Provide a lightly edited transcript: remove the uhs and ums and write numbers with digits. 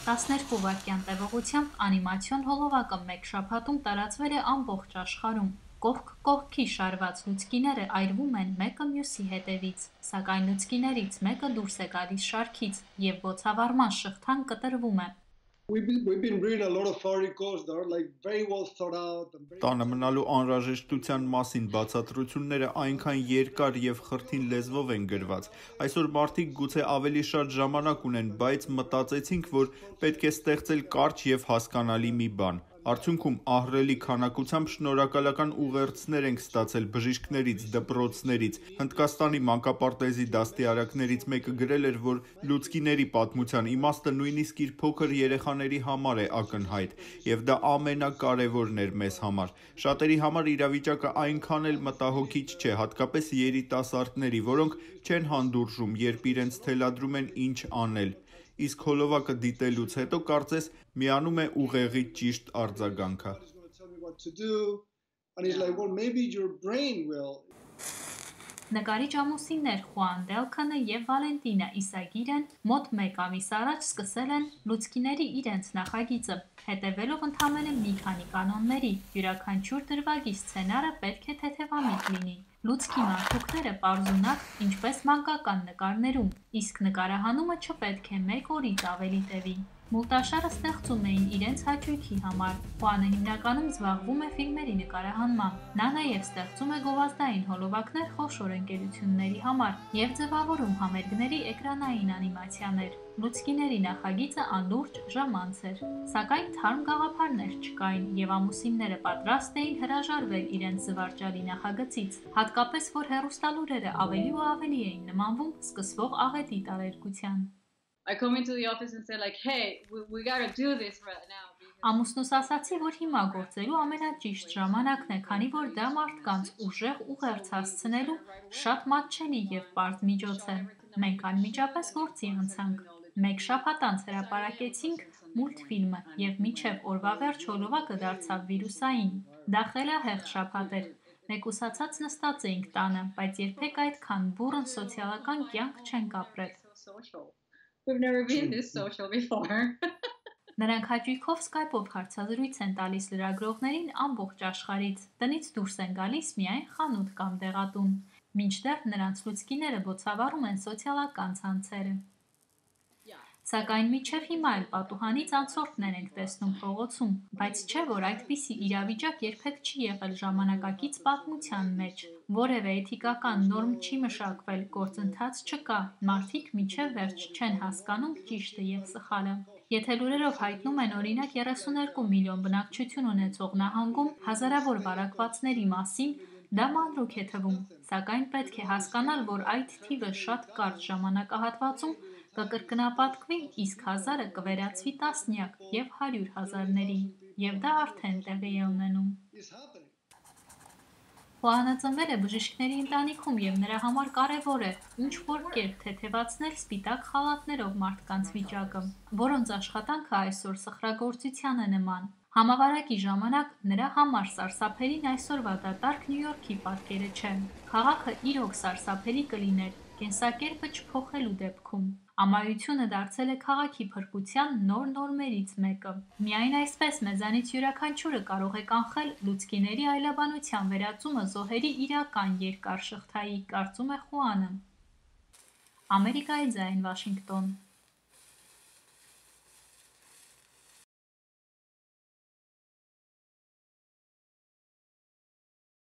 12 վայրկյան տևողությամբ անիմացիոն հոլովակը մեկ շաբաթում տարածվել է ամբողջ աշխարհում։ Կողք կողքի շարված լուցկիները այրվում են մեկը մյուսի հետևից, սակայն լուցկիներից մեկը դուրս է գալիս շարքից և բոցավառման շղթան կտրվում է։ Տանը մնալու անհրաժեշտության մասին բացատրությունները այնքան երկար և խրթին լեզվով են գրված։ Այսօր մարդիկ գուցե ավելի շատ ժամանակ ունեն, բայց մտածեցինք, որ պետք է ստեղծել կարճ և հասկանալի մի բան։ Արդյունքում ահռելի քանակությամբ շնորհակալական ուղերձներ ենք ստացել բժիշկներից, դպրոցներից։ Հնդկաստանի մանկապարտեզի դաստիարակներից մեկը գրել էր, որ լուցկիների պատմության իմաստը նույնիսկ իր փոքր երեխաների համար է ակնհայտ, և դա ամենակարևորն էր մեզ համար։ Շատերի համար իրավիճակը այնքան էլ մտահոգիչ չէ, հատկապես երիտասարդների, որոնք չեն հանդուրժում, երբ իրենց թելադրում են ինչ անել։ Իսկ հոլովակը դիտելուց հետո կարծես միանում է ուղեղի ճիշտ արձագանքը։ Նկարիչ ամուսիններ Խուան Դելքանը և Վալենտինա Իսագիրեն մոտ մեկ ամիս առաջ սկսել են լուցկիների իրենց նախագիծը, հետևելով ընդամենը մի քանի կանոնների։ Յուրաքանչյուր դրվագի սցենարը պետք է թեթևամիտ լինի, լուցկի մանրուքները պարզունակ, ինչպես մանկական նկարներում, իսկ նկարահանումը չպետք է 1 օրից ավելի տևի։ Մուլտաշարը ստեղծում էին իրենց հաճույքի համար։ Խուանը հիմնականում զբաղվում է ֆիլմերի նկարահանմամբ։ Նա նաև ստեղծում է գովազդային հոլովակներ խոշոր ընկերությունների համար և ձևավորում համերգների էկրանային անիմացիաներ։ Լուցկիների նախագիծը անլուրջ ժամանց էր, սակայն թարմ գաղափարներ չկային, և ամուսինները պատրաստ էին հրաժարվել իրենց զվարճալի նախագծից, հատկապես որ հեռուստալուրերը ավելի ու ավելի էին նմանվում սկսվող աղետի տարերկության։ Ամուսնուս ասացի, որ հիմա գործելու ամենաճիշտ ժամանակն է, քանի որ դա մարդկանց ուժեղ ուղերձ հասցնելու շատ մատչելի և պարզ միջոց է։ Մենք անմիջապես գործի անցանք։ Մեկ շաբաթ անց հրապարակեցինք մուլտֆիլմը, և մինչև օրվա վերջ հոլովակը դարձավ վիրուսային։ Դա խելահեղ շաբաթ էր։ Մեկուսացած նստած էինք տանը, բայց երբեք այդքան բուռն սոցիալական կյանք չենք ապրել։ Նրանք հաճույքով սկայպով հարցազրույց են տալիս լրագրողներին ամբողջ աշխարհից, տնից դուրս են գալիս միայն խանութ կամ դեղատուն, մինչդեռ նրանց լուցկիները բոցավառում են սոցիալական ցանցերը։ Սակայն մինչև հիմա էլ պատուհանից անցորդներ ենք տեսնում փողոցում, բայց չէ՞ որ այդպիսի իրավիճակ երբեք չի եղել ժամանակակից պատմության մեջ։ Որևէ էթիկական նորմ չի մշակվել, գործընթաց չկա, մարդիկ մինչև վերջ չեն հասկանում ճիշտը և սխալը։ Եթե լուրերով հայտնում են օրինակ 32 միլիոն բնակչություն ունեցող նահանգում հազարավոր վարակվածների մասին, դա մանրուք է թվում, սակայն պետք է հասկանալ, որ այդ թիվը շատ կարճ ժամանակահատվածում կկրկնապատկվի, իսկ 1000-ը կվերածվի տասնյակ և 100 հազարների, և դա արդեն տեղի է ունենում։ Խուանը ծնվել է բժիշկների ընտանիքում, և նրա համար կարևոր է ինչ-որ կերպ թեթևացնել սպիտակ խալաթներով մարդկանց վիճակը, որոնց աշխատանքը այսօր սխրագործության է նման։ Համավարակի ժամանակ նրա համար սարսափելին այսօրվա դատարկ Նյու Յորքի պատկերը չէ։ Քաղաքը իրոք սարսափելի կլիներ կենսակերպը չփոխելու դեպքում։ Ամայությունը դարձել է քաղաքի փրկության նոր նորմերից մեկը։ Միայն այսպես մեզանից յուրաքանչյուրը կարող է կանխել լուցկիների այլաբանության վերածումը զոհերի իրական երկար շղթայի, կարծում է Խուանը։ Ամերիկայի ձայն, Վաշինգտոն։